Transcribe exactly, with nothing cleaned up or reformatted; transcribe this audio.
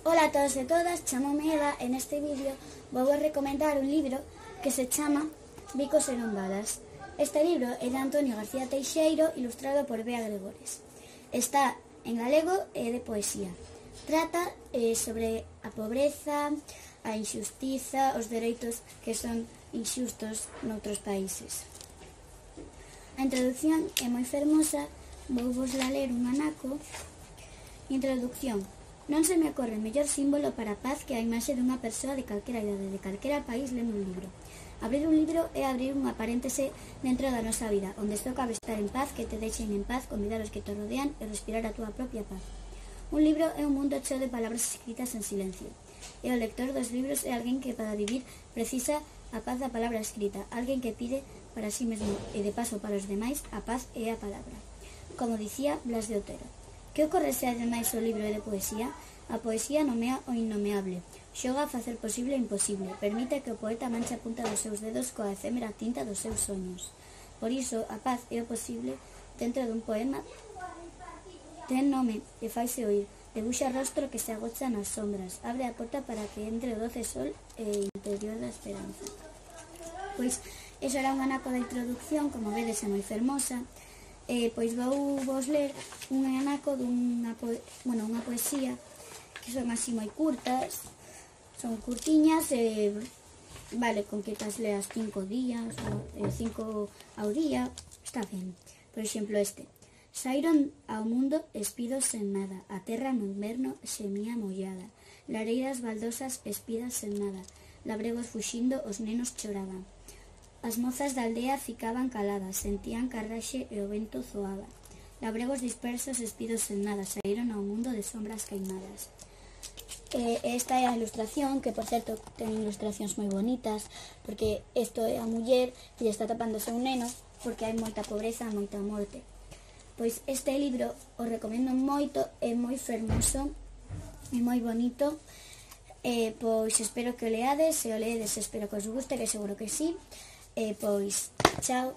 Ola a todos e todas, chamome Eva e neste vídeo vou a recomendar un libro que se chama Bicos e non balas. Este libro é de Antonio García Teixeiro, ilustrado por Bea Gregores. Está en galego e de poesía. Trata eh, sobre a pobreza, a injustiza, os dereitos que son inxustos noutros países. A introducción é moi fermosa, vou vos la ler un anaco. Introducción. Non se me ocorre mellor símbolo para a paz que a imaxe dunha persoa de calquera idade, de calquera país lendo un libro. Abrir un libro é abrir unha paréntese dentro da nosa vida, onde só cabe estar en paz, que te deixen en paz, convidar os que te rodean e respirar a túa propia paz. Un libro é un mundo cheo de palabras escritas en silencio. E o lector dos libros é alguén que para vivir precisa a paz da palabra escrita, alguén que pide para sí mesmo e de paso para os demais a paz e a palabra. Como dicía Blas de Otero. Que ocorre se ademais o libro é de poesía? A poesía nomea o innomeable, xoga a facer posible o imposible, permite que o poeta manche a punta dos seus dedos coa efémera tinta dos seus soños. Por iso, a paz é o posible dentro dun poema. Ten nome e faise oír, debuxa rostro que se agocha nas sombras, abre a porta para que entre o doce sol e interior da esperanza. Pois, eso era un anaco da introducción, como vedes é moi fermosa. Eh, pois vou vos ler un anaco dunha po bueno, unha poesía que son así moi curtas, son curtiñas e vale, con que tas leas cinco días ou cinco ao día, está ben. Por exemplo este. Saíron ao mundo espidos sen nada, a terra no inverno semía mollada, lareiras baldosas espidas sen nada, labregos fuxindo os nenos choraban. As mozas da aldea ficaban caladas, sentían carraxe e o vento zoaba. Labregos dispersos, espidos sen nada, saíron ao mundo de sombras queimadas. E esta é a ilustración, que por certo ten ilustracións moi bonitas, porque isto é a muller que lle está tapando a un neno, porque hai moita pobreza, moita morte. Pois este libro o recomendo moito, é moi fermoso, é moi bonito, e pois espero que o leades, se o leedes espero que os guste, que seguro que sí. E pois, chao.